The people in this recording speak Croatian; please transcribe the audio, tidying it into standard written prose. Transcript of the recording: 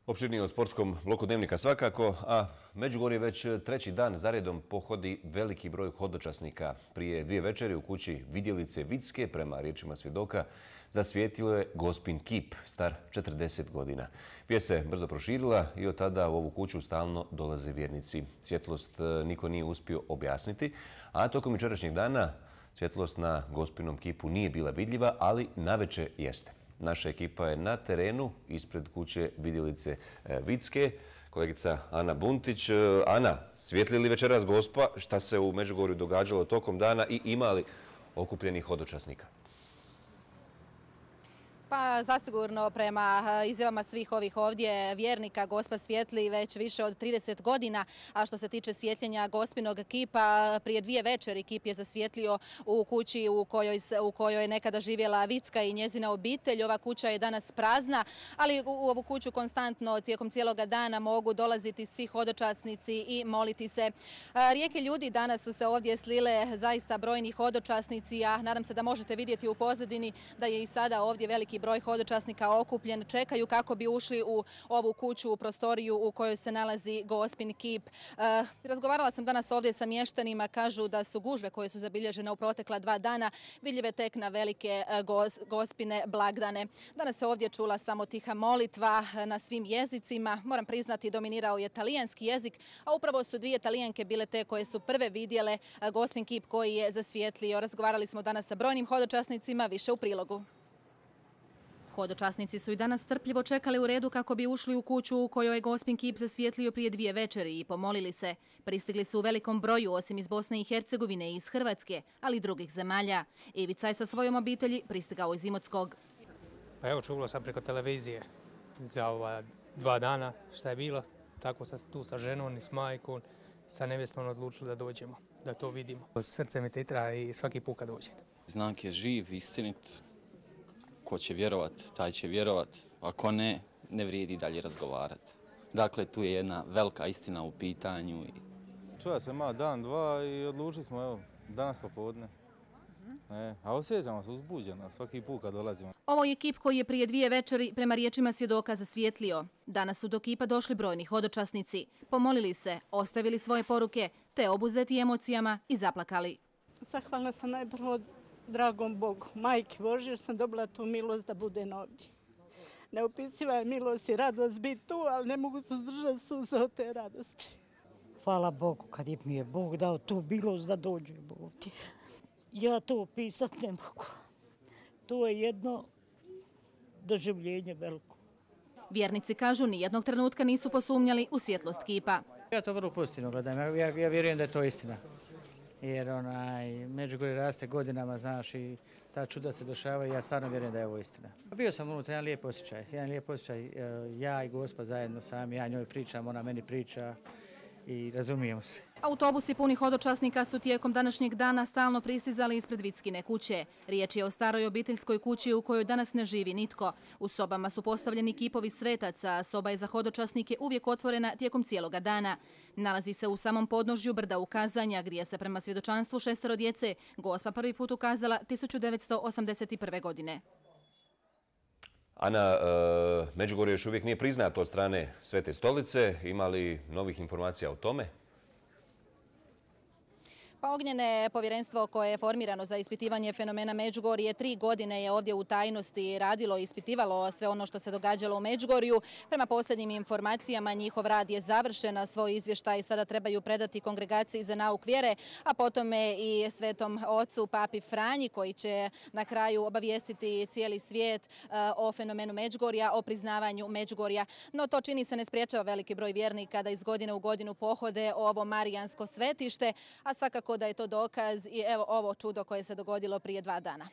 Opširnije o sportskom bloku Dnevnika svakako, a Međugorje već treći dan zaredom pohodi veliki broj hodočasnika. Prije 2 večeri u kući Vidjelice Vicke, prema riječima svjedoka, zasvijetlio je Gospin kip, star 40 godina. Vijest se brzo proširila i od tada u ovu kuću stalno dolaze vjernici. Svjetlost niko nije uspio objasniti, a tokom jučerašnjeg dana svjetlost na Gospinom kipu nije bila vidljiva, ali navečer jeste. Naša ekipa je na terenu ispred kuće Vidjelice Vicke. Kolegica Ana Buntić. Ana, svijetli li večeras Gospa? Šta se u Međugorju događalo tokom dana i ima li okupljenih hodočasnika? Pa zasigurno prema izjavama svih ovih ovdje vjernika Gospa svijetli već više od 30 godina, a što se tiče svjetljenja Gospinog kipa, prije 2 večeri kip je zasvijetlio u kući u kojoj je nekada živjela Vicka i njezina obitelj. Ova kuća je danas prazna, ali u ovu kuću konstantno tijekom cijeloga dana mogu dolaziti svi hodočasnici i moliti se. Rijeke ljudi danas su se ovdje slile, zaista brojni hodočasnici, a nadam se da možete vidjeti u pozadini da je i sada ovdje veliki broj hodočasnika okupljen, čekaju kako bi ušli u ovu kuću, u prostoriju u kojoj se nalazi Gospin kip. Razgovarala sam danas ovdje sa mještanima, kažu da su gužve koje su zabilježene u protekla 2 dana vidljive tek na velike Gospine blagdane. Danas se ovdje čula samo tiha molitva na svim jezicima. Moram priznati, dominirao je talijanski jezik, a upravo su 2 Talijanke bile te koje su prve vidjele Gospin kip koji je zasvijetlio. Razgovarali smo danas sa brojnim hodočasnicima, više u prilogu. Hodočasnici su i danas strpljivo čekali u redu kako bi ušli u kuću u kojoj je Gospin kip zasvijetlio prije 2 večeri i pomolili se. Pristigli su u velikom broju, osim iz Bosne i Hercegovine i iz Hrvatske, ali i drugih zemalja. Ivica je sa svojom obitelji pristigao iz Imotskog. Pa evo, čulo sam preko televizije za ova 2 dana šta je bilo. Tako sam tu sa ženom i s majkom, sa nevjestom odlučili da dođemo, da to vidimo. Srce mi titra i svaki put kad dođem. Znak je živ, istinit. Ko će vjerovat, taj će vjerovat. Ako ne, ne vrijedi dalje razgovarati. Dakle, tu je jedna velika istina u pitanju. Čuva se malo dan, 2 i odlučili smo, evo, danas popodne. A osjećamo se uzbuđeno svaki put kad dolazimo. Ovo je kip koji je prije 2 večeri prema riječima svjedoka zasvijetlio. Danas su do kipa došli brojni hodočasnici. Pomolili se, ostavili svoje poruke, te obuzeti emocijama i zaplakali. Zahvalna sam najprvo dragom Bogu, Majke Božje, jer sam dobila tu milost da budem ovdje. Neopisiva je milost i radost biti tu, ali ne mogu se uzdržati suze od te radosti. Hvala Bogu kad mi je Bog dao tu milost da dođem ovdje. Ja to opisati ne mogu. To je jedno doživljenje veliko. Vjernici kažu nijednog trenutka nisu posumnjali u svjetlost kipa. Ja to vrlo pozitivno gledam. Ja vjerujem da je to istina. Jer Međugorje raste godinama, znaš, i ta čuda se dešavaju i ja stvarno vjerujem da je ovo istina. Bio sam unutra jedan lijep osjećaj. Ja i Gospa zajedno sami, ja njoj pričam, ona meni priča i razumijemo se. Autobusi puni hodočasnika su tijekom današnjeg dana stalno pristizali ispred Vickine kuće. Riječ je o staroj obiteljskoj kući u kojoj danas ne živi nitko. U sobama su postavljeni kipovi svetaca, a soba je za hodočasnike uvijek otvorena tijekom cijeloga dana. Nalazi se u samom podnožju brda Ukazanja, gdje se prema svjedočanstvu 6 djece Gospa prvi put ukazala 1981. godine. Ana, Međugorje još uvijek nije priznato od strane Svete stolice. Ima li novih informacija o tome? Pa Ognjene povjerenstvo koje je formirano za ispitivanje fenomena Međugorje 3 godine je ovdje u tajnosti radilo i ispitivalo sve ono što se događalo u Međugorju. Prema posljednjim informacijama njihov rad je završen, a svoj izvještaj sada trebaju predati Kongregaciji za nauk vjere, a potom i Svetom ocu Papi Franji koji će na kraju obavijestiti cijeli svijet o fenomenu Međugorja, o priznavanju Međugorja. No to čini se ne spriječava veliki broj vjernika da iz godine u godinu pohode ovo marijansko svetište, a svakako da je to dokaz i evo ovo čudo koje se dogodilo prije 2 dana.